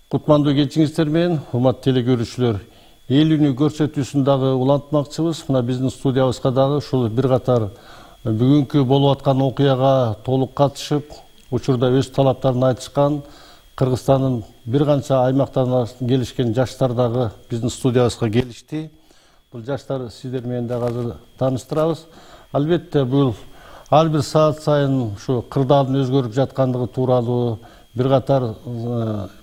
Кутмандуу кечиңиздер менен, урматтуу телекөрүүчүлөр, эл үнү көрсөтүүсүн дагы улантмакчыбыз. Мына биздин студиябызга дагы ушул бир катар бүгүнкү болуп аткан окуяга толук катышып, учурда өз талаптарын айтышкан Кыргызстандын бир канча аймактарынан келишкен жаштар дагы биздин студиябызга келишти. Бул жаштар сиздер менен дагы азыр тааныштырабыз. Албетте бул ар бир саат сайын ушу кырдаалдын өзгөрүп жаткандыгы тууралуу бир катар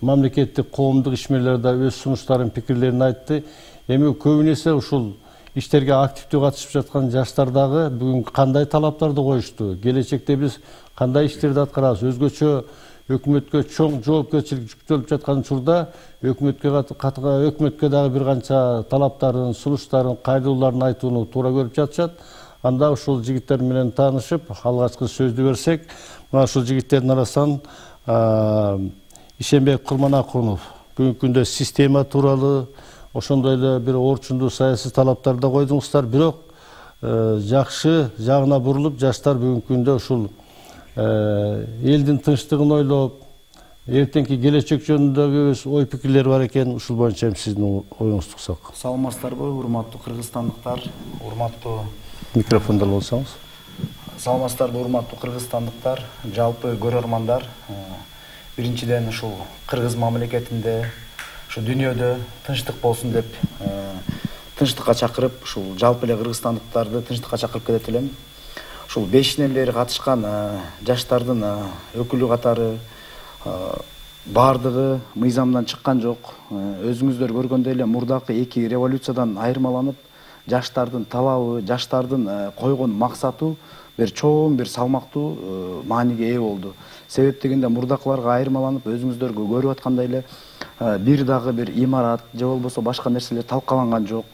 мамлекеттик коомдук ишмерлер да өз сунуштарын, пикирлерин айтты. Эми көбүн эсе ушул иштерге активдүү катышып жаткан жаштар дагы бүгүн кандай талаптарды коюшту? Келечекте биз кандай иштерди аткарабыз? Өзгөчө өкмөткө чоң жоопкерчилик жүктөлүп жаткан учурда өкмөткө дагы бир канча талаптарын, сунуштарын, кайрылууларын айтууну туура көрүп жатышат. Анда ушул жигиттер менен таанышып, алгачкы сөздү берсек, мына ушул жигиттердин арасынан Ишенбек Курманакунов бүгүнкү күндө система тууралуу, ошондой эле бир орчундуу саясий талаптарды койдуңуздар, бирок жакшы жагына бурулуп, жаштар бүгүнкү күндө ушул элдин тынчтыгын ойлоп, эртеңки келечек жөнүндөгү өз ой пикирлери бар экен. Ушул боюнча сиздин оюңузду уктсак. Саламатсыздарбы, урматтуу кыргызстандыктар, урматтуу микрофонду болсоңуз. Саламатсыздарбы, урматтуу кыргызстандыктар, жалпы көрөрмандар. Биринчиден ушул кыргыз мамлекетинде, ушу дүйнөдө тынчтык болсун деп тынчтыкка чакырып, ушул жалпы эле кыргызстандыктарды тынчтыкка чакырып кетет элем. Ушул 5-ден бери катышкан жаштардын өкүлү катары бардыгы мыйзамдан чыккан жок. Өзүңүздөр көргөндөй эле мурдакы 2 революциядан айырмаланып, жаштардын талабы, жаштардын койгон максаты бир чоң, бир салмактуу мааниге ээ болду. Себеп дегенде мурдакыларга айырмаланып, өзүңүздөр көрүп аткандай эле бир дагы бир имарат же болбосо башка нерселер талкаланган жок.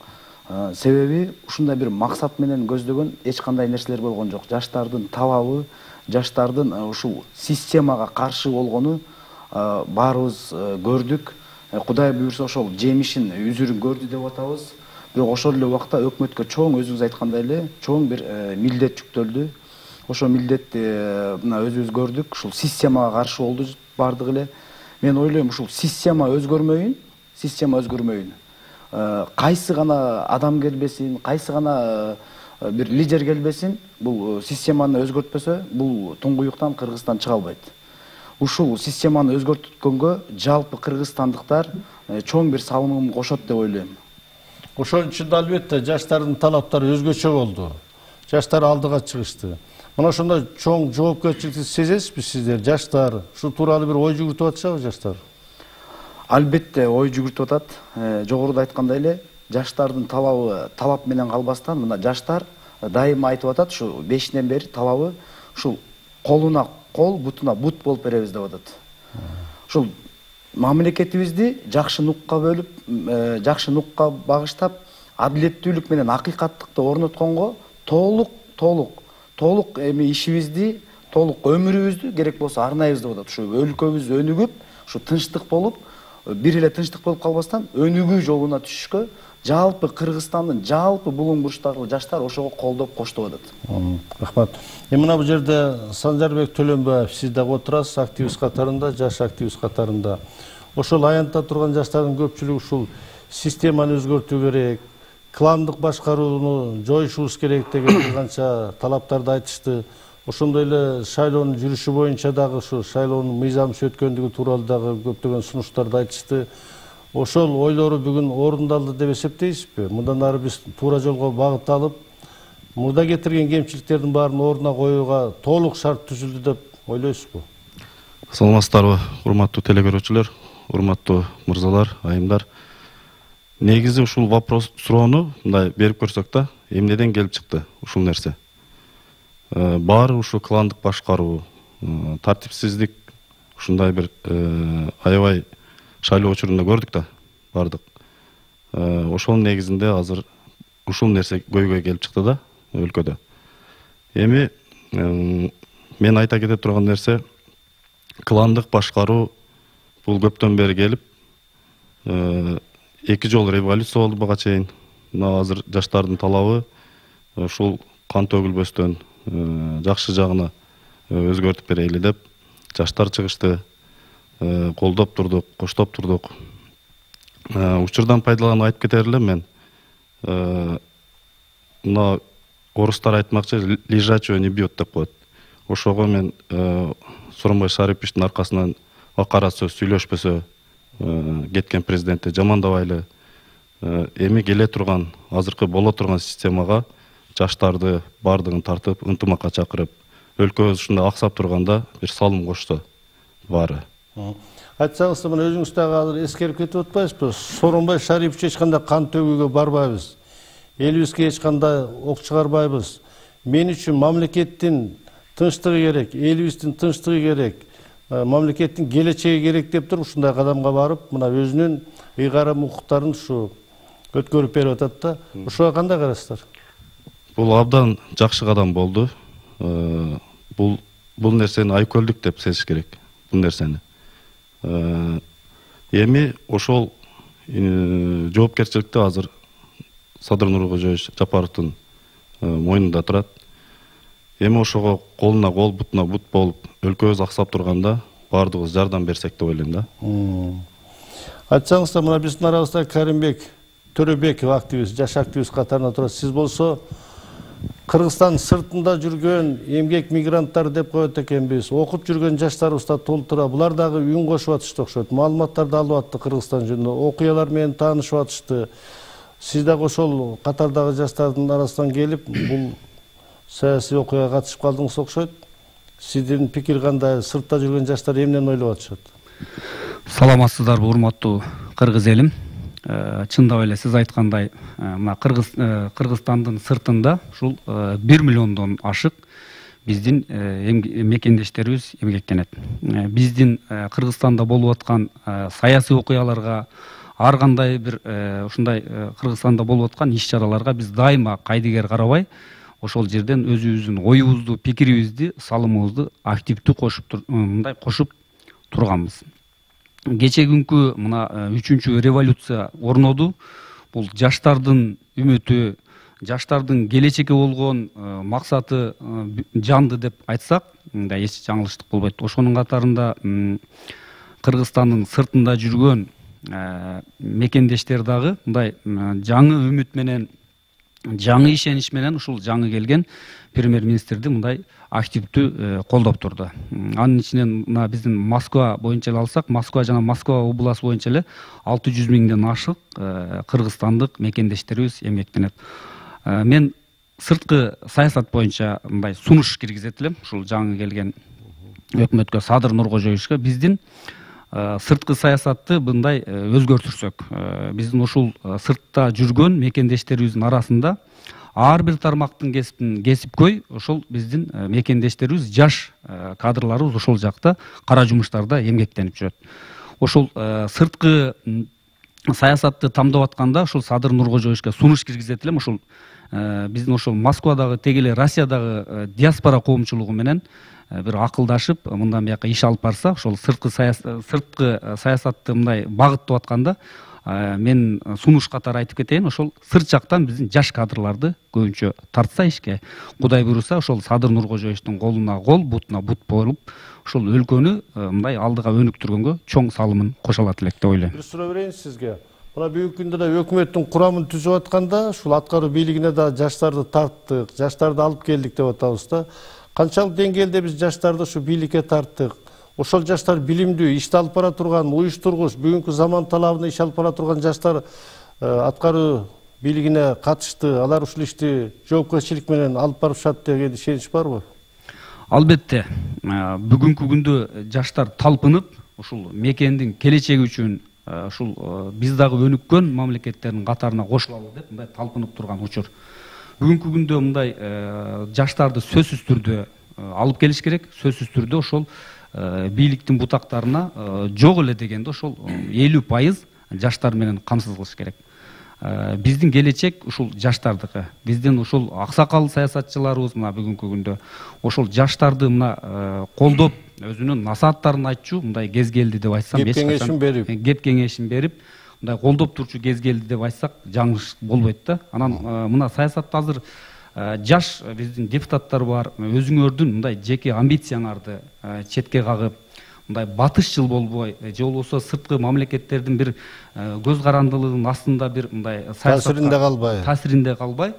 Себеби ушундай бир максат менен көздөгөн эч кандай нерселер болгон жок. Жаштардын талабы, жаштардын ушул системага каршы болгону баарыбыз көрдүк. Кудай буйрса ошол жемишин, үзүрүн көрдү деп атабыз. Бирок ошол эле убакта өкмөткө чоң, өзүңүз айткандай эле, чоң бир милдет жүктөлдү. Ошол милдетти мына өзүбүз көрдүк. Ушул системага каршы болду бардыгы эле. Мен ойлойм, ушул система өзгөрмөйүн. Кайсы гана адам келбесин, кайсы гана бир лидер келбесин, бул системаны өзгөртпөсө, бул туңгуюктан Кыргызстан чыга албайт. Ушул системаны өзгөрткөнгө жалпы кыргызстандыктар чоң бир салымын кошот деп ойлойм. Ошон үчүн да албетте жаштардын талаптары өзгөчө болду. Жаштар алдыга чыгышты. Мына ошондой чоң жоопкерчиликти сезесизби сиздер, жаштар? Ушул тууралуу бир ой жүгүртүп атышабы жаштар? Албетте ой жүгүртүп атат. Жогоруда айткандай эле, жаштардын талабы талап менен калбастан, мына жаштар дайыма айтып атат, ушу 5-ден бери талабы ушул колуна кол, бутуна бут болуп беребиз деп атат. Ушул мамлекетибизди жакшы нукка бөлүп, жакшы нукка багыштап, адилеттүүлүк менен акыйкаттыкты орнотконго толук эми ишибизди, толук өмүрүбүздү керек болсо арнайбыз деп атат. Ушу өлкөбүз өнүгүп, ушу тынчтык болуп, бир эле тынчтык болуп калбастан өнүгүү жолуна түшүшкө жалпы Кыргызстандын жалпы булуң бурчтагы жаштар ошого колдоп коштоп атат. Рахмат. Мына бул жерде Санжарбек Төлөнбаев, сиз дагы отурасыз, активист катарында, жаш активист катарында. Ошол аянтта турган жаштардын көпчүлүгү ушул системаны өзгөртүү керек, кландык башкарууну жоюшубуз керек деген бир канча талаптарды айтышты. Ошондой эле шайлоонун жүрүшү боюнча дагы ушу шайлоонун мыйзамсыз өткөндүгү тууралуу дагы көптөгөн сунуштарды айтышты. Ошол ойлору бүгүн орундалды деп эсептейсизби? Мындан ары биз туура жолго багыт алып, мурда кетирген кемчиликтердин баарын ордуна коюуга толук шарт түзүлдү деп ойлойсузбу? Саламатсыздарбы, урматтуу телекөрүүчүлөр, урматтуу мырзалар, айымдар. Негизи ушул вопрос суроону мындай берип көрсөк да, эмнеден келип чыкты ушул нерсе? Баары ушу кландык башкаруу, тартипсиздик, ушундай бир аябай шайлоо учурунда көрдүк да, бардык. Ошол негизинде азыр ушул нерсе көйгөй келип чыкты да өлкөдө. Эми мен айта кете турган нерсе, кландык башкаруу бул көптөн бери келип, 2 жолу революция болду буга чейин. Мына азыр жаштардын талабы ушул кан төгүлбөстөн жакшы жагына өзгөртүп берели деп жаштар чыгышты. колдоп турдук, коштоп турдук. Учурдан пайдаланып айтып кетер элем мен. Мына орустар айтмакчы, лежачего не бьет деп коет. Ошого мен Сооронбай Шариповичтин аркасынан акара сөз сүйлөшпөсө кеткен президентти жамандабайлы, эми келе турган, азыркы боло турган системага жаштарды бардыгын тартып, ынтымакка чакырып, өлкөбүз ушундай аксап турганда бир салым кошсо баары. Айтсаңыз, мына өзүңүз дагы азыр эскерип кетип атпайсызбы? Сооронбай Шарипович эч кандай кан төгүүгө барбайбыз. Элибизге эч кандай ок чыгарбайбыз. Мен үчүн мамлекеттин тынчтыгы керек, элибиздин тынчтыгы керек, мамлекеттин келечеги керек деп туруп ушундай кадамга барып, мына өзүнүн ыйгарым укуктарын ушу өткөрүп берип атат да. Ушуга кандай карайсыздар? Бул абдан жакшы кадам болду. Бул нерсени айкөлдүк деп сезиш керек. Бул нерсени. Эми ошол жоопкерчиликти азыр Садыр Нуркожоевич Жапаровдун мойнунда турат. Эми ошого колуна кол, бутуна бут болуп, өлкөбүз аксап турганда баардыгыбыз жардам берсек деп ойлойм да. Айтсаңыздар, мына биздин арабызда Каримбек Төрөбеков активист, жаш активист катарында турат. Сиз болсо Кыргызстан сыртында жүргөн эмгек мигранттар деп коет экенбиз. Окуп жүргөн жаштарыбыз да толтура. Булар дагы үн кошуп атышты окшойт. Маалыматтарды алып атты Кыргызстан жөнүндө. Окуялар менен таанышып атышты. Сиз дагы ошол катардагы жаштардын арасынан келип, бул саясий окуяга катышып калдыңыз окшойт. Сиздин пикир кандай? Сыртта жүргөн жаштар эмнени ойлоп атышат? Саламатсыздарбы, урматтуу кыргыз элим. Чындап эле сиз айткандай, мына Кыргызстандын сыртында ушул 1 миллиондон ашык биздин мекендештерибиз эмгектенет. Биздин Кыргызстанда болуп аткан саясий окуяларга, ар кандай бир ушундай Кыргызстанда болуп аткан иш-чараларга биз дайыма кайдыгер карабай, ошол жерден өзүбүздүн оюбузду, пикирибизди, салымыбызды активдүү кошуп турганбыз. Кече күнкү мына 3-чү революция орноду. Бул жаштардын үмүтү, жаштардын келечекке болгон максаты жанды деп айтсак, мындай эч жаңылыштык болбойт. Ошонун катарында Кыргызстандын сыртында жүргөн мекендештер дагы мындай жаңы үмүт менен, жаңы ишенич менен ушул жаңы келген премьер-министрди мындай активдүү колдоп турду. Анын ичинен мына биздин Москва боюнча эле алсак, Москва жана Москва областы боюнча эле 600 миңден ашык кыргызстандык мекендештерибиз эмгектенет. Мен сырткы саясат боюнча мындай сунуш киргизет элем ушул жаңы келген өкмөткө, Садыр Нуркожоевичке. Биздин сырткы саясатты мындай өзгөртүрсөк, биздин ушул сыртта жүргөн мекендештерибиздин арасында ар бир тармактын кесипкөй ошол биздин мекендештерибиз, жаш кадрларыбыз ошол жакта кара жумуштарда эмгектенип жүрөт. Ошол сырткы саясатты тамдап атканда ошол Садыр Нуркожоевичке сунуш киргизет элем. Ошол биздин ошол Москвадагы, теги эле Россиядагы диаспора коомчулугу менен бир акылдашып, мындан бияка иш алып барса, ошол сырткы саясатты мындай багыттап атканда, мен сунуш катары айтып кетейин, ошол сырт жактан биздин жаш кадрларды көбүнчө тартса ишке, Кудай буйруса, ошол Садыр Нуркожоевичтин колуна кол, бутуна бут болуп, ошол өлкөнү мындай алдыга өнүктүргөнгө чоң салымын кошо алат элек деп ойлойм. Бир суроо берейин сизге. Мына бүгүнкү күндө да өкмөттүн курамын түзүп атканда, ушул аткаруу бийлигине да жаштарды тарттык, жаштарды алып келдик деп атабыз да. Канчалык деңгээлде биз жаштарды ушу бийликке тарттык? Ошол жаштар билимдүү, ишти алып бара турган, уюштургуч, бүгүнкү заман талабына иш алып бара турган жаштар аткаруу бийлигине катышты. Алар ушул ишти жоопкерчилик менен алып барышат деген ишенич барбы? Албетте, бүгүнкү күндө жаштар талпынып, ушул мекендин келечеги үчүн ушул биз дагы өнүккөн мамлекеттердин катарына кошулалы деп мындай талпынып турган учур. Бүгүнкү күндө мындай жаштарды сөзсүз түрдө алып келиш керек, сөзсүз түрдө ошол бийликтин бутактарына жок эле дегенде ошол 50% жаштар менен камсыз кылыш керек. Биздин келечек ушул жаштардыкы. Биздин ушул аксакал саясатчыларыбыз мына бүгүнкү күндө ошол жаштарды мына колдоп, өзүнүн насааттарын айтчу мындай кез келди деп айтсам, кеп кеңешин берип, мындай колдоп турчу кез келди деп айтсак, жаңылыш болбойт да. Анан мына саясатта азыр жаш биздин депутаттар бар, өзүңөрдүн мындай жеке амбицияңарды четке кагып, мындай батышчыл болбой же болбосо сырткы мамлекеттердин бир көз карандылыгынын астында бир мындай таасиринде калбай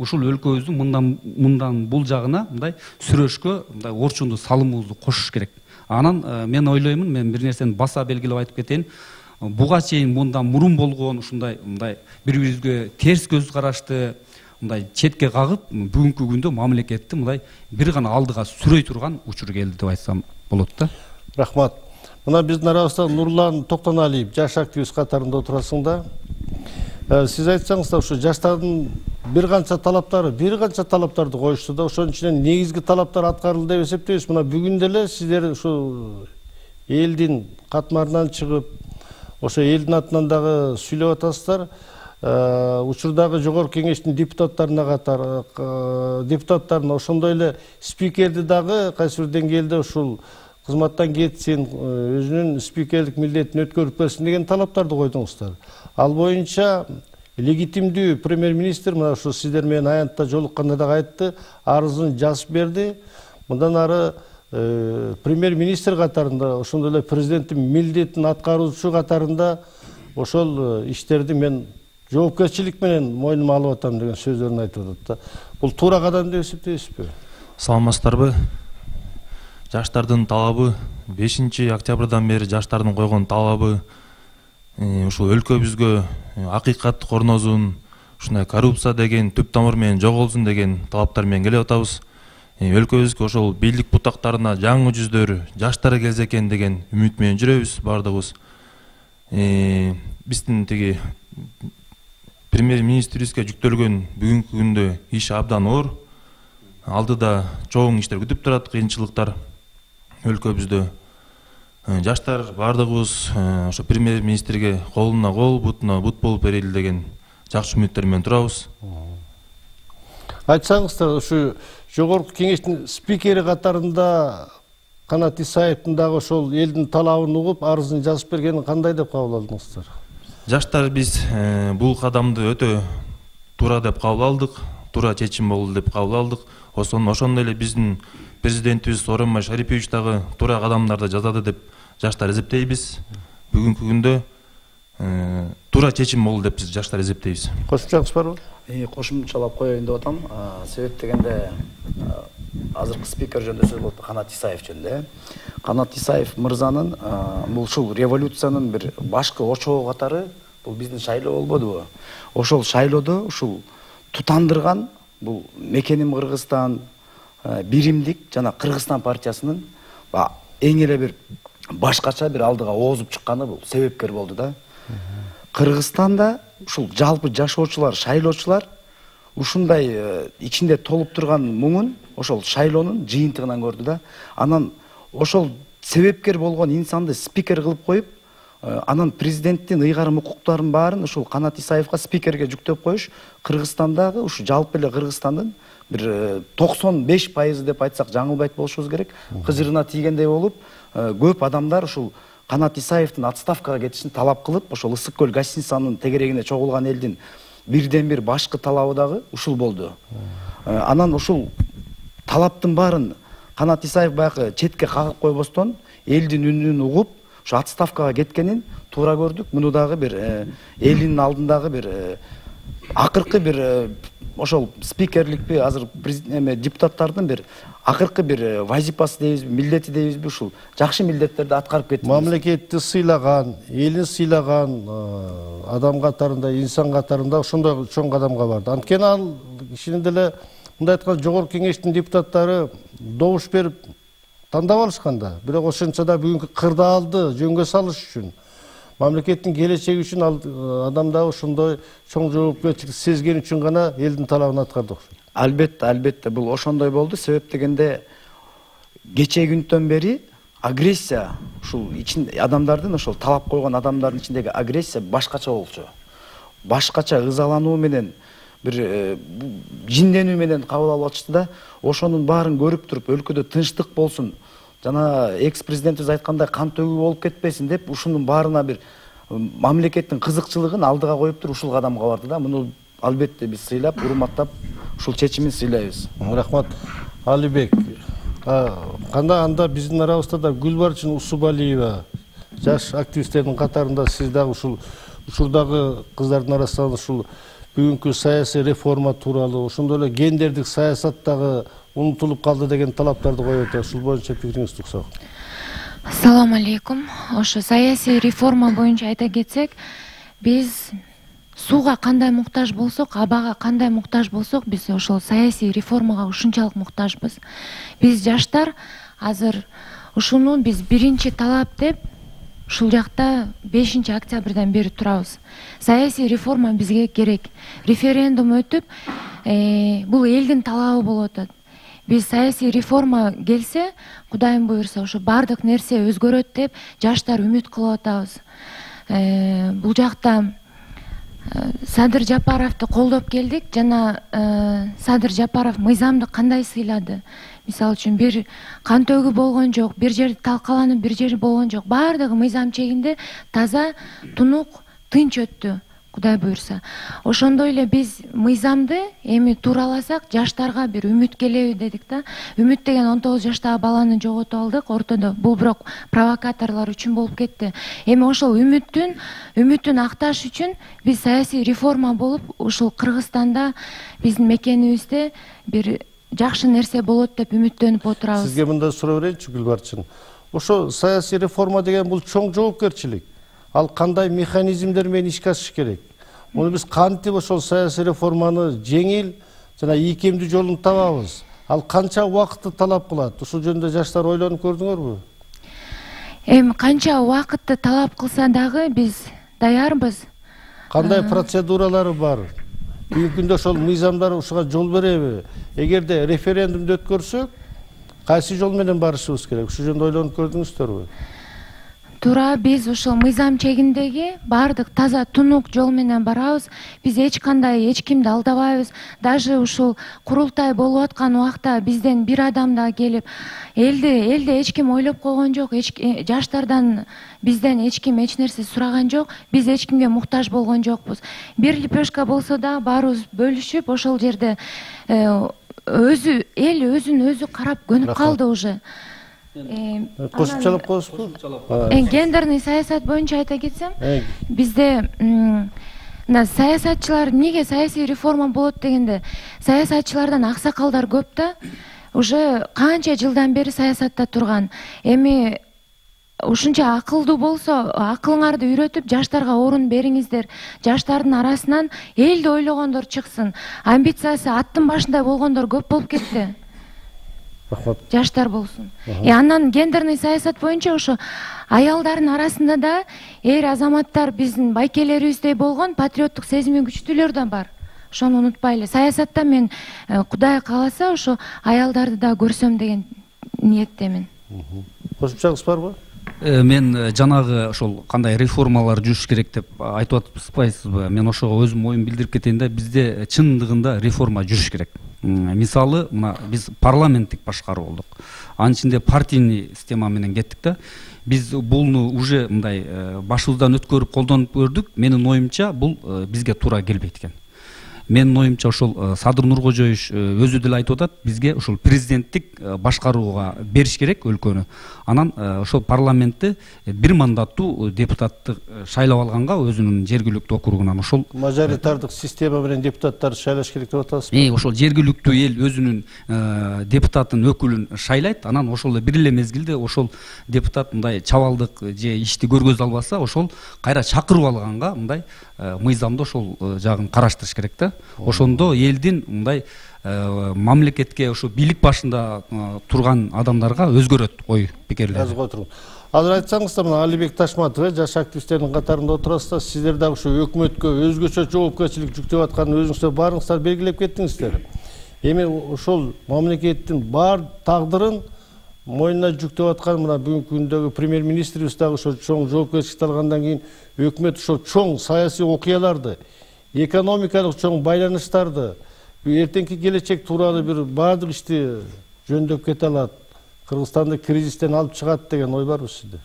ушул өлкөбүздүн мындан бул жагына мындай сүрөшкө мындай орчунду салымыбызды кошуш керек. Анан мен ойлоймун, мен бир нерсени баса белгилеп айтып кетейин. Буга чейин мындан мурун болгон ушундай мындай бири-бирибизге терс көз карашты мындай четке кагып, бүгүнкү күндө мамлекетти мындай бир гана алдыга сүрөй турган учур келди деп айтсам болот да. Рахмат. Мына биздин арабызда Нурлан Токтоналиев жаш активист катарында отурасың да. Сиз айтсаңыз да, ушу жаштардын бир канча талаптарды коюшту да, ошонун ичинен негизги талаптар аткарылды деп эсептейбиз. Мына бүгүн деле сиздер ушу элдин катмарынан чыгып, ошо элдин атынан дагы сүйлөп атасыздар. Учурдагы жогорку кеңештин депутаттарына ошондой эле спикерди дагы кайсы бир деңгээлде ушул кызматтан кетсин, өзүнүн спикерлик милдетин өткөрүп берсин деген талаптарды койдуңуздар. Ал боюнча легитимдүү премьер-министр мына ушу сиздер менен аянтта жолукканда дагы айтты, арызын жазып берди. Мындан ары премьер-министр катарында, ошондой эле президенттин милдетин аткаруучу катарында ошол иштерди мен жоопкерчилик менен мойнума алып атам деген сөздөрүн айтып атат да. Бул туура кадам деп эсептейсизби? Саламатсыздарбы? Жаштардын талабы 5 октябрдан бери жаштардын койгон талабы ушул өлкөбүзгө акыйкат корнозун, ушундай коррупция деген түп тамыр менен жоголсун деген талаптар менен келип атабыз. Өлкөбүзгө ошол бийлик бутактарына жаңы жүздөр, жаштар келсе экен деген үмүт менен жүрөбүз бардыгыбыз. Биздин тиги премьер-министрибизге жүктөлгөн бүгүнкү күндө иш абдан оор. Алдыда чоң иштер күтүп турат, кыйынчылыктар өлкөбүздө. Жаштар бардыгыбыз ошо премьер-министрге колуна кол, бутуна бут болуп берели деген жакшы үмүттөр менен турабыз. Айтсаңыздар, ушу жогорку кеңештин спикери катарында Канат Исаевдин дагы ошол элдин талабын угуп, арызын жазып бергенин кандай деп кабыл алдыңыздар? Жаштар биз бул кадамды өтө туура деп кабыл алдык, туура чечим болду деп кабыл алдык. Ошондой эле биздин президентибиз Сооронбай Шарипович дагы туура кадамдарды жасады деп жаштар эсептейбиз. Бүгүнкү күндө туура чечим болду деп биз жаштар эсептейбиз. Кошумчаңыз барбы? Кошумчалап коеюн деп атам. Себеп дегенде азыркы спикер жөнүндө сөз болду, Канат Исаев жөнүндө. Канат Исаев мырзанын бул ушул революциянын бир башкы очогу катары бул биздин шайлоо болбодубу? Ошол шайлоодо ушул тутандырган бул Мекеним Кыргызстан, Биримдик жана Кыргызстан партиясынын эң эле бир башкача бир алдыга оозуп чыкканы бул себепкер болду да. Кыргызстанда ушул жалпы жашоочулар, шайлоочулар ушундай ичинде толуп турган муңун ошол шайлоонун жыйынтыгынан көрдү да. Анан ошол себепкер болгон инсанды спикер кылып коюп, анан президенттин ыйгарым укуктарын баарын ушул Канат Исаевга спикерге жүктөп коюш Кыргызстандагы ушу жалпы эле Кыргызстандын бир 95% деп айтсак жаңылбайт болушубуз керек, кыжырына тийгендей болуп, көп адамдар ушул Канат Исаевдин отставкага кетишин талап кылып, ошол Ысык көл гостиницанын тегерегине чогулган элдин бирден бир башкы талабы дагы ушул болду. Анан ушул талаптын баарын Канат Исаев баягы четке кагып койбостон элдин үнүн угуп, ушу отставкага кеткенин туура көрдүк. Муну дагы бир элдин алдындагы бир акыркы бир ошол спикерликпи, азыр депутаттардын бир акыркы бир вазипасы дейбизби, милдети дейбизби, ушул жакшы милдеттерди аткарып кетти. Мамлекетти сыйлаган, элин сыйлаган адам катарында, инсан катарында ошондой чоң кадамга барды. Анткени ал кишинин деле мындай айтканда жогорку кеңештин депутаттары добуш берип тандап алышкан да. Бирок ошончо да бүгүнкү кырдаалды жөнгө салыш үчүн, мамлекеттин келечеги үчүн ал адам да ошондой чоң жоопкерчилик сезген үчүн гана элдин талабын аткарды окшойт. Албетте бул ошондой болду. Себеп дегенде кечээ күндөн бери агрессия, ушул адамдардын ошол талап койгон адамдардын ичиндеги агрессия башкача болчу. Башкача ызалануу менен бир жинденүү менен кабыл алып атышты да. Ошонун баарын көрүп туруп өлкөдө тынчтык болсун, жана экс-президентибиз айткандай кан төгүү болуп кетпесин деп ушунун баарына бир мамлекеттин кызыкчылыгын алдыга коюп туруп ушул кадамга барды да. Муну албетте биз сыйлап, урматтап ушул чечимин сыйлайбыз. Рахмат. Алибек, Кандай анда биздин арабызда да Гүлбарчын Усубалиева жаш активисттердин катарында сиз дагы ушул учурдагы кыздардын арасынан ушул бүгүнкү саясий реформа тууралуу, ошондой эле гендердик саясат дагы унутулуп калды деген талаптарды коюп атат. Ушул боюнча пикириңизди уксак. Ассаламу алейкум. Ошо саясий реформа боюнча айта кетсек, биз сууга кандай муктаж болсок, абага кандай муктаж болсок, биз ошол саясий реформага ушунчалык муктажбыз. Биз жаштар азыр ушуну биз биринчи талап деп ушул жакта 5 октябрдан бери турабыз. Саясий реформа бизге керек. Референдум өтүп, бул элдин талабы болуп атат. Биз саясий реформа келсе, Кудайым буйрса, ошо бардык нерсе өзгөрөт деп жаштар үмүт кылып атабыз. Бул жакта Садыр Жапаровду колдоп келдик жана Садыр Жапаров мыйзамды кандай сыйлады? Мисалы үчүн бир кан төгүү болгон жок, бир жер талкаланып, бир жер болгон жок. Бардыгы мыйзам чегинде таза, тунук, тынч өттү, Кудай буйрса. Ошондой эле биз мыйзамды эми туураласак, жаштарга бир үмүт келеби дедик да. Үмүт деген 19 жаштагы баланы жоготуп алдык ортодо. Бул бирок провокаторлор үчүн болуп кетти. Эми ошол үмүтүн акташ үчүн биз саясий реформа болуп, ушул Кыргызстанда биздин мекенибизде бир жакшы нерсе болот деп үмүттөнүп отурабыз. Сизге мындай суроо берейинчи Гүлбарчын. Ошо саясий реформа деген бул чоң жоопкерчилик. Ал кандай механизмдер менен ишке ашыш керек? Муну биз кантип ошол саясий реформаны жеңил жана ийкемдүү жолун табабыз? Ал канча убакытты талап кылат? Ушул жөнүндө жаштар ойлонуп көрдүңөрбү? Эми канча убакытты талап кылса дагы биз даярбыз. Кандай процедуралары бар? Бүгүнкү күндө ошол мыйзамдар ушуга жол береби? Эгерде референдумду өткөрсөк, кайсы жол менен барышыбыз керек? Ушул жөнүндө ойлонуп көрдүңүздөрбү? Туура, биз ошол мыйзам чегиндеги бардык таза тунук жол менен барабыз. Биз эч кимди алдабайбыз. Даже ушул курултай болуп аткан убакта бизден бир адам да келип, элде эч ким ойлоп койгон жок, жаштардан бизден эч ким эч нерсе сураган жок. Биз эч кимге муктаж болгон жокпуз. Бир лепешка болсо да баарыбыз бөлүшүп ошол жерде эл өзүн өзү карап көнүп калды уже. Кошумчалап коесузбу? Гендерный саясат боюнча айта кетсем, бизде саясатчылар неге саясий реформа болот дегенде, саясатчылардан аксакалдар көп да, уже канча жылдан бери саясатта турган. Эми ушунча акылдуу болсо, акылыңарды үйрөтүп, жаштарга орун бериңиздер. Жаштардын арасынан элди ойлогондор чыксын. Амбициясы аттын башындай болгондор көп болуп кетти. Жаштар болсун. Андан гендерный саясат боюнча ошо аялдардын арасында да эр азаматтар биздин байкелерибиздей болгон патриоттук сезими күчтүүлөр да бар. Ошону унутпайлы. Саясатта мен Кудай кааласа ошо аялдарды да көрсөм деген ниеттемин. Кошумчаңыз барбы? Мен жанагы ошол кандай реформалар жүрүш керек деп айтып атпайсызбы? Мен ошого өзүм оюмду билдирип кетейин да, бизде чындыгында реформа жүрүш керек. Мисалы, мына биз парламенттик башкаруу болдук. Анын ичинде партийный система менен кеттик да. Биз буну уже мындай башыбыздан өткөрүп колдонуп көрдүк. Менин оюмча бул бизге туура келбейт экен. Менин оюмча ошол Садыр Нуркожоевич өзү деле айтып атат, бизге ошол президенттик башкарууга бериш керек өлкөнү. Анан ошол парламентте бир мандаттуу депутатты шайлап алганга өзүнүн жергиликтүү округунан ошол мажоритардык система менен депутаттарды шайлаш керек деп атасызбы? Ошол жергиликтүү эл өзүнүн депутатын өкүлүн шайлайт, анан ошол бир эле мезгилде ошол депутат мындай чабалдык же ишти көргөзө албаса, ошол кайра чакырып алганга мындай мыйзамды ошол жагын караштырыш керек да. Ошондо элдин мындай мамлекетке ошо бийлик башында турган адамдарга өзгөрөт ой пикирлери. Жазып отуруң. Азыр айтсаңыз да, мына Алибек Ташматов жаш активисттердин катарында отурасыздар. Сиздер дагы ушу өкмөткө өзгөчө жоопкерчилик жүктөп атканын өзүңүздөр барыңыздар белгилеп кеттиңиздер. Эми ошол мамлекеттин бар тагдырын мойнуна жүктөп аткан мына бүгүнкү күндөгү премьер-министрибиз дагы ошо чоң жоопкерчиликти алгандан кийин өкмөт ошо чоң саясий окуяларды, экономикалык чоң байланыштарды, эртеңки келечек тууралуу бир баардык ишти жөндөп кете алат, Кыргызстанды кризистен алып чыгат деген ой барбы сизде?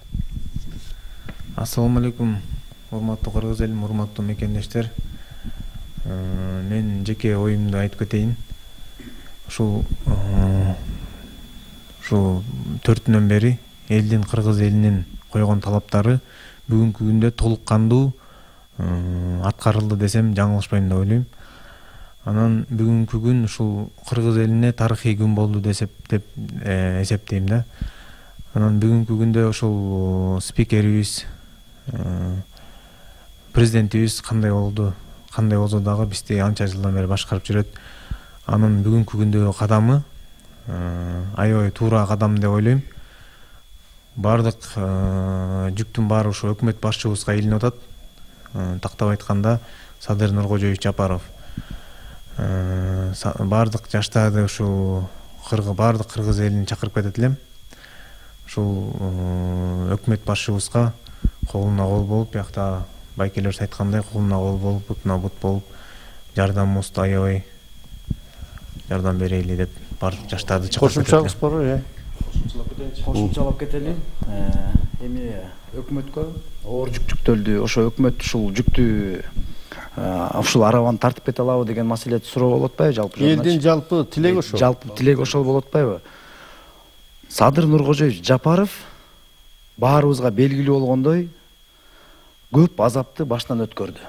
Ассаламу алейкум, урматтуу кыргыз элим, урматтуу мекендештер. Мен жеке оюмду айтып кетейин. Ушул ушул 4 күнөн бери элдин, кыргыз элинин койгон талаптары бүгүнкү күндө толук кандуу аткарылды десем жаңылышпайм деп ойлойм. Анан бүгүнкү күн ушул кыргыз элине тарыхый күн болду деп эсептейм да. Анан бүгүнкү күндө ушул спикерибиз, президентибиз кандай болсо дагы бизди анча жылдан бери башкарып жүрөт. Анын бүгүнкү күндөгү кадамы аябай туура кадам деп ойлойм. Бардык жүктүн баары ушу өкмөт башчыбызга илинип атат. Тактап айтканда Садыр Нуркожоевич Жапаров бардык жаштарды ушул бардык кыргыз элин чакырып кетет элем. Ушул өкмөт башчыбызга колуна кол болуп, биякта байкелер айткандай колуна кол болуп, бутуна бут болуп, жардамыбызды аябай жардам берели деп бардык жаштарды чакырып кошумчабыз бар, кошумчалап кетели. Эми өкмөткө оор жүк жүктөлдү. Ошо өкмөт ушул жүктү ушул арабаны тартып кете алабы деген маселеди суроо болуп атпайбы жалпы? Элдин жалпы тилеги ошол. Жалпы тилеги ошол болуп атпайбы? Садыр Нуркожоевич Жапаров баарыбызга белгилүү болгондой көп азапты баштан өткөрдү.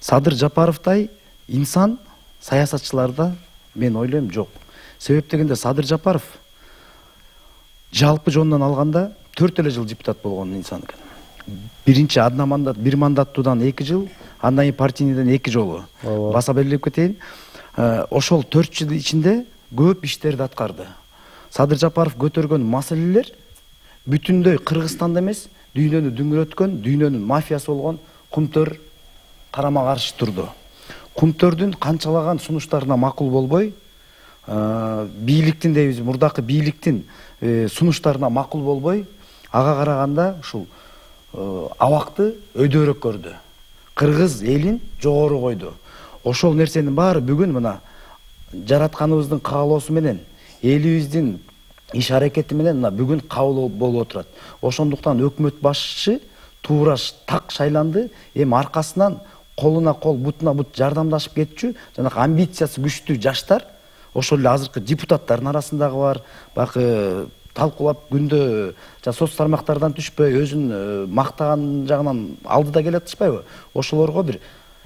Садыр Жапаровдай инсан саясатчыларда мен ойлойм жок. Себеп дегенде Садыр Жапаров жалпы жонунан алганда 4 жыл депутат болгон инсан экен. Биринчи бир мандаттуудан 2 жыл, андан кийин партийниден 2 жолу. Баса белгилеп кетейин. Ошол 4 жыл ичинде көп иштерди аткарды. Садыр Жапаров көтөргөн маселелер бүтүндөй Кыргызстанда эмес, дүйнөнү дүңгүрөткөн, дүйнөнүн мафиясы болгон Кумтөр карама каршы турду. Кумтөрдүн канчалаган сунуштарына макул болбой, бийликтин дейбиз, мурдакы бийликтин сунуштарына макул болбой, ага караганда ушул абакты өйдөрөөк көрдү. Кыргыз элин жогору койду. Ошол нерсенин баары бүгүн мына жаратканыбыздын каалоосу менен, элибиздин иш аракети менен мына бүгүн кабыл болуп отурат. Ошондуктан өкмөт башчы туура так шайланды. Эми аркасынан колуна кол, бутуна бут жардамдашып кетчү, жанагы амбициясы күчтүү жаштар, ошол эле азыркы депутаттардын арасындагы бар, баягы талкуулап күндө соц тармактардан түшпөй, өзүн мактаган жагынан алдыда келе атышпайбы? Ошолорго бир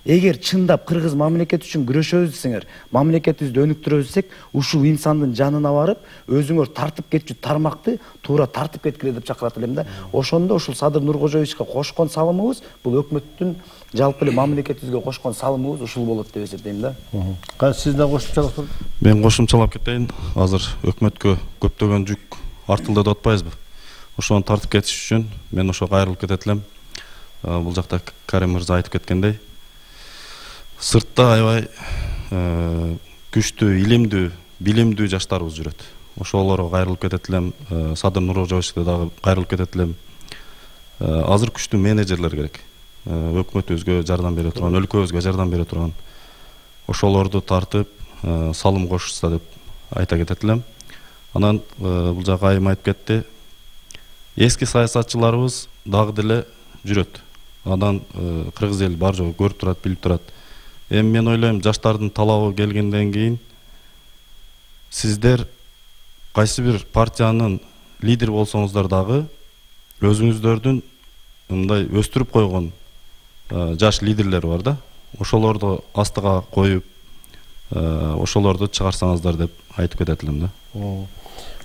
эгер чындап кыргыз мамлекети үчүн күрөшөбүз десеңер, мамлекетибизди өнүктүрөбүз десек, ушул инсандын жанына барып, өзүңөр тартып кетчү тармакты туура тартып кеткиле деп чакырат элем да. Ошондо ушул Садыр Нуркожоевичке кошкон салымыбыз, бул өкмөттүн жалпы эле мамлекетибизге кошкон салымыбыз ушул болот деп эсептейм да. Сиздин кошумчалык бар? Мен кошумчалап кетейин. Азыр өкмөткө көптөгөн жүк артылды деп атпайбызбы? Ошону тартып кетиш үчүн мен ошо кайрылып кетет элем. Бул жакта Карим мырза айтып кеткендей, сыртта аябай күчтүү, илимдүү, билимдүү жаштарыбыз жүрөт. Ошолорго кайрылып кетет элем. Садыр Нуркожоевичке дагы кайрылып кетет элем. Азыр күчтүү менеджерлер керек. Өкмөтүбүзгө жардам бере турган, өлкөбүзгө жардам бере турган. Ошолорду тартып, салым кошушса деп айта кетет элем. Анан бул жакка айым айтып кетти. Эски саясатчыларыбыз дагы деле жүрөт. Андан кыргыз эл бар жогу көрүп турат, билип турат. Эми мен ойлойм, жаштардын талабы келгенден кийин сиздер кайсы бир партиянын лидери болсоңуздар дагы өзүңүздөрдүн мындай өстүрүп койгон жаш лидерлер бар да. Ошолорду астыга коюп, ошолорду чыгарсаңыздар деп айтып кетет элем да.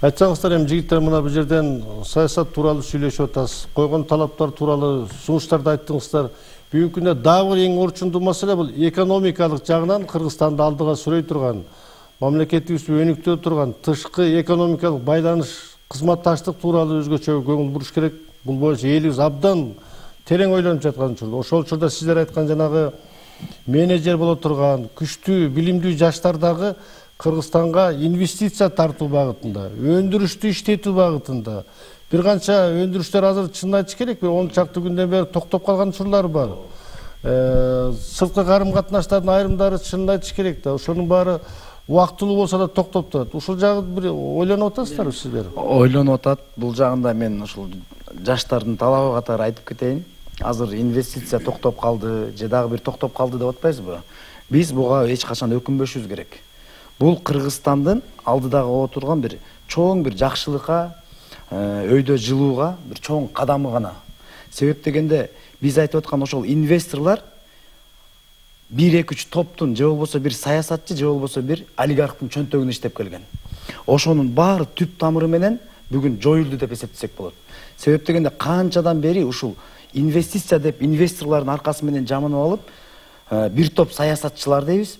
Айтсаңыздар, эми жигиттер, мына бул жерден саясат тууралуу сүйлөшүп атасыз. Койгон талаптар тууралуу сунуштарды айттыңыздар. Бүгүнкү күндө дагы бир эң орчундуу маселе бул экономикалык жагынан Кыргызстанды алдыга сүрөй турган, мамлекетибизди өнүктүрө турган тышкы экономикалык байланыш, кызматташтык тууралуу өзгөчө көңүл буруш керек. Бул боюнча элибиз абдан терең ойлонуп жаткан учурда. Ошол учурда сиздер айткан жанагы менеджер боло турган, күчтүү, билимдүү жаштар дагы Кыргызстанга инвестиция тартуу багытында, өндүрүштү иштетүү багытында бир канча өндүрүштөр азыр чынын айтыш керек, 10 чакты күндөн бери токтоп калган учурлар бар. Сырткы карым катнаштардын айрымдары чынын айтыш керек да. Ошонун баары убактылуу болсо да токтоп турат. Ушул жагы бир ойлонуп атасыздарбы сиздер? Ойлонуп атат. Бул жагында мен ушул жаштардын талабы катары айтып кетейин. Азыр инвестиция токтоп калды, же дагы бир токтоп калды деп атпайсызбы? Биз буга эч качан өкүнбөшүбүз керек. бул Кыргызстандын алдыдагы отурган бир чоң бир жакшылыкка, өйдө жылууга бир чоң кадамы гана. Себеп дегенде биз айтып аткан ошол инвесторлор 1-2-3 топтун же болбосо бир саясатчы же болбосо бир олигархтын чөнтөгүнө иштеп келген. Ошонун баары түп тамыры менен бүгүн жоюлду деп эсептесек болот. Себеп дегенде канчадан бери ушул инвестиция деп инвесторлордун аркасы менен жаманып алып, бир топ саясатчылар дейбиз.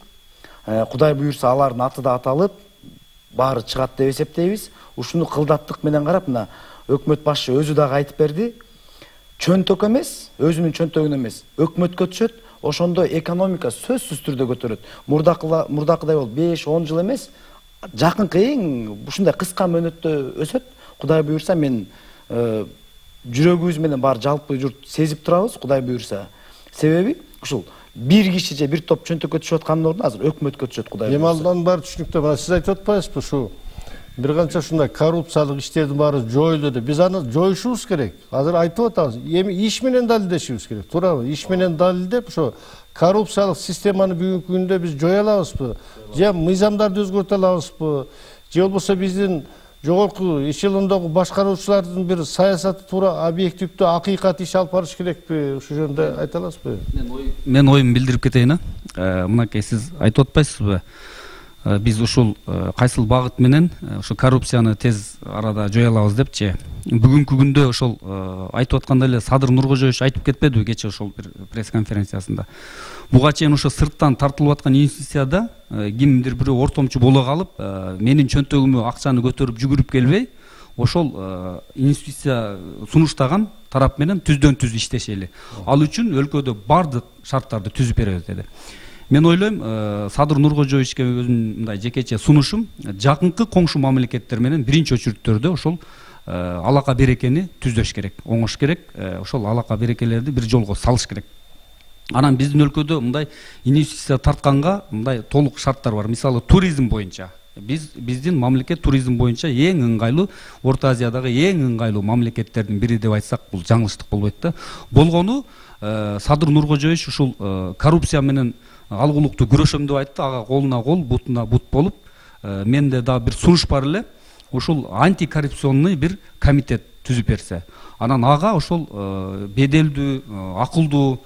Кудай буюрса алардын аты да аталып, баары чыгат деп эсептейбиз. Ушуну кылдаттык менен карап, мына өкмөт башчы өзү дагы айтып берди. Чөнтөк эмес, өзүнүн чөнтөгүнө эмес, өкмөткө түшөт, ошондо экономика сөзсүз түрдө көтөрөт. Мурдакыдай болуп 5-10 жыл эмес, жакынкы эң ушундай кыска мөөнөттө өсөт. Кудай буюрса мен жүрөгүбүз менен бар жалпы журт сезип турабыз, Кудай буюрса. Себеби ушул бир киши же бир топ чөнтөккө түшүп аткандын ордуна азыр өкмөткө түшөт, Кудай буюрса. Эми алдан баары түшүнүктүү. Мына сиз айтып атпайсызбы, ушу бир канча ушундай коррупциялык иштердин баары жоюлду деп. Биз аны жоюшубуз керек. Азыр айтып атабыз. Эми иш менен далилдешибиз керек. Туурабы? Иш менен далилдеп, ошо коррупциялык системаны бүгүнкү күндө биз жоя алабызбы? Же мыйзамдарды өзгөртө алабызбы? Же болбосо биздин жогорку эшелондогу башкаруучулардын бир саясаты туура объективдүү акыйкат иш алып барыш керекпи? Ушул жөнүндө айта аласызбы? Мен оюмду билдирип кетейин. Мынакей сиз айтып атпайсызбы? Биз ушул кайсыл багыт менен ошо коррупцияны тез арада жоя алабыз депчи. Бүгүнкү күндө ошол айтып аткандай эле Садыр Нуркожоевич айтып кетпедиби кечээ ошол бир пресс-конференциясында. Буга чейин ошо сырттан тартылып аткан инвестицияда кимдир бирөө ортомчу боло калып, менин чөнтөгүмө акчаны көтөрүп жүгүрүп келбей, ошол инвестиция сунуштаган тарап менен түздөн түз иштешели. Ал үчүн өлкөдө бардык шарттарды түзүп беребиз деди. Мен ойлойм, Садыр Нуркожоевичке өзүмдүн мындай жекече сунушум, жакынкы коңшу мамлекеттер менен биринчи очередтөрдө ошол алака берекени түздөш керек, оңош керек, ошол алака берекелерди бир жолго салыш керек. Анан биздин өлкөдө мындай инвестиция тартканга мындай толук шарттар бар. Мисалы, туризм боюнча. Биздин мамлекет туризм боюнча эң ыңгайлуу, Орто Азиядагы эң ыңгайлуу мамлекеттердин бири деп айтсак, бул жаңылыштык болбойт да. Болгону Садыр Нуркожоевич ушул коррупция менен алгулукту күрөшөм деп айтты, ага колуна кол, бутуна бут болуп, менде да бир сунуш бар эле, ушул антикоррупционный бир комитет түзүп берсе. Анан ага ошол беделдүү, акылдуу,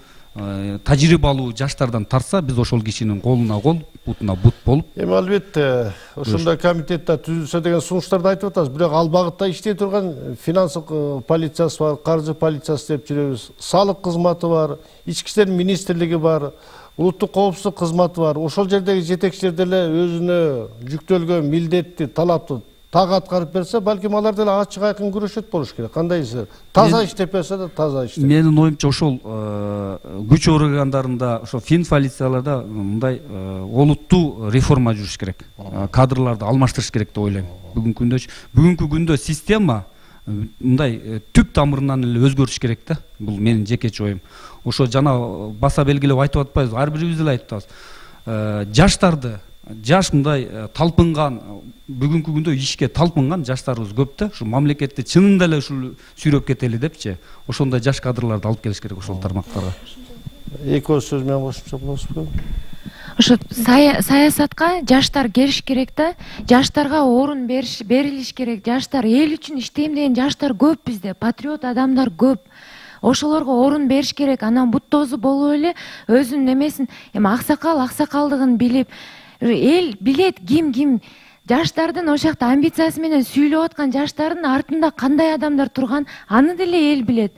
тажрыйбалуу жаштардан тарса, биз ошол кишинин колуна кол, бутуна бут болуп. Эми албетте, ошондой комитетте түзүлсө деген сунуштарды айтып атабыз. Бирок ал багытта иштей турган финанстык полициясы бар, каржы полициясы деп жүрөбүз, салык кызматы бар, ички иштер министрлиги бар, улуттук коопсуздук кызматы бар. Ошол жердеги жетекчилер деле өзүнө жүктөлгөн милдетти, талапты так аткарып берсе, балким алар деле ачык айкын күрөшөт болуш керек. Кандайсыз? Таза иштеп берсе да таза иштеп. Менин оюмча ошол күч органдарында, ошо фин полицияларда мындай олуттуу реформа жүрүш керек. Кадрларды алмаштырыш керек деп ойлойм. Бүгүнкү күндө система мындай түп тамырынан эле өзгөрүш керек да. Бул менин жекече оюм. Ошо жана баса белгилеп айтып атпайбыз, ар бирибиз эле айтып атабыз. Жаштарды, жаш мындай талпынган, бүгүнкү күндө ишке талпынган жаштарыбыз көп да. Ушу мамлекетти чынында эле ушул сүйрөп кетели депчи. Ошондой жаш кадрларды алып келиш керек ошол тармактарга. Эки ооз сөз менен кошумча болосузбу? Ошо саясатка жаштар келиш керек да. Жаштарга орун берилиш керек. Жаштар эл үчүн иштейм деген жаштар көп бизде, патриот адамдар көп. Ошолорго орун бериш керек. Анан буттоозу болуп эле өзүнүн эмесин, эми аксакалдыгын билип, эл билет ким жаштардын ошол жакта амбициясы менен сүйлөп аткан жаштардын артында кандай адамдар турган, аны деле эл билет.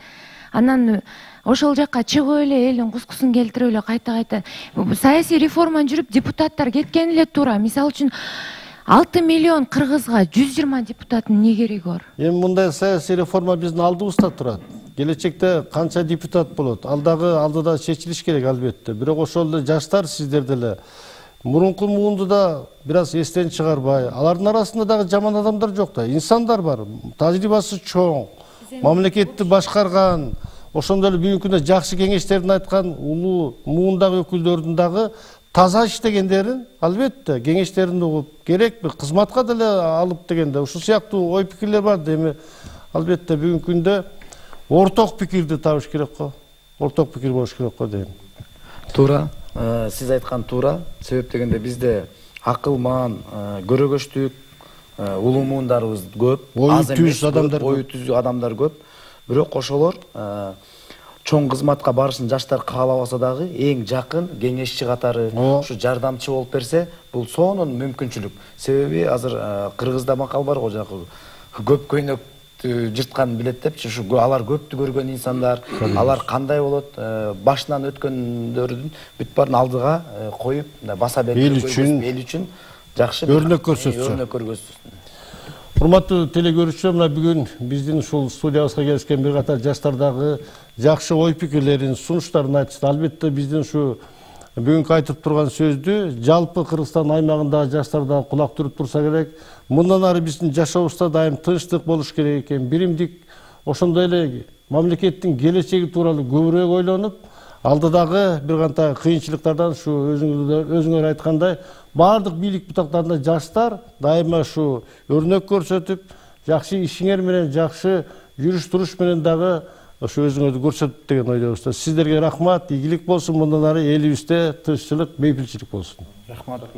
Анан ошол жакка чыгып эле элдин кускусун келтирип эле кайта саясий реформа жүрүп депутаттар кеткен эле туура. Мисалы үчүн 6 миллион кыргызга 120 депутаттын эмне кереги бар? Эми мындай саясий реформа биздин алдыбызда турат. Келечекте канча депутат болот? Алдыда чечилиш керек албетте. Бирок ошол эле жаштар сиздер деле мурунку муунду да бир аз эстен чыгарбай, алардын арасында дагы жаман адамдар жок да, инсандар бар, тажрыйбасы чоң, мамлекетти башкарган, ошондой эле бүгүнкү күндө жакшы кеңештерин айткан улуу муундагы өкүлдөрдүн дагы таза иштегендерин албетте кеңештерин угуп, керекпи кызматка деле алып дегенде ушул сыяктуу ой пикирлер бар. Эми албетте бүгүнкү күндө орток пикирди табыш керек го. Орток пикир болуш керек го дейм. Туура, сиз айткан туура. Себеп дегенде бизде акылман, көрөгөчтүк, улуу муундарыбыз көп, ою түз адамдар, ою түз адамдар көп. Бирок ошолор чоң кызматка барышын жаштар каалабаса дагы эң жакын кеңешчи катары, ушу жардамчы болуп берсе, бул сонун мүмкүнчүлүк. Себеби азыр Кыргызда макал бар го, жанагы көп көйнөктү жырткан билет депчи, ушу алар көптү көргөн инсандар, алар кандай болот, башынан өткөндөрдүн бүт баарын алдыга коюп, баса берип эл үчүн жакшы өрнөк көрсөтсө. Урматтуу телекөрүүчүлөр, мына бүгүн биздин ушул студиябызга келишкен бир катар жаштар дагы жакшы ой пикирлерин, сунуштарын айтышты. Албетте биздин ушу бүгүнкү айтып турган сөздү жалпы Кыргызстан аймагындагы жаштар дагы кулак түрүп турса керек. Мындан ары биздин жашообузда дайым тынчтык болуш керек экен, биримдик, ошондой эле мамлекеттин келечеги тууралуу көбүрөөк ойлонуп, алдыдагы бир канча кыйынчылыктардан ушу өзүңөр айткандай баардык бийлик бутактарында жаштар дайыма ушу өрнөк көрсөтүп, жакшы ишиңер менен, жакшы жүрүш туруш менен дагы ошо өзүңөрдү көрсөтүп деген ойдобуз. Сиздерге рахмат, ийгилик болсун, мындан ары элибизде тынччылык, бейпилчилик болсун. Рахмат.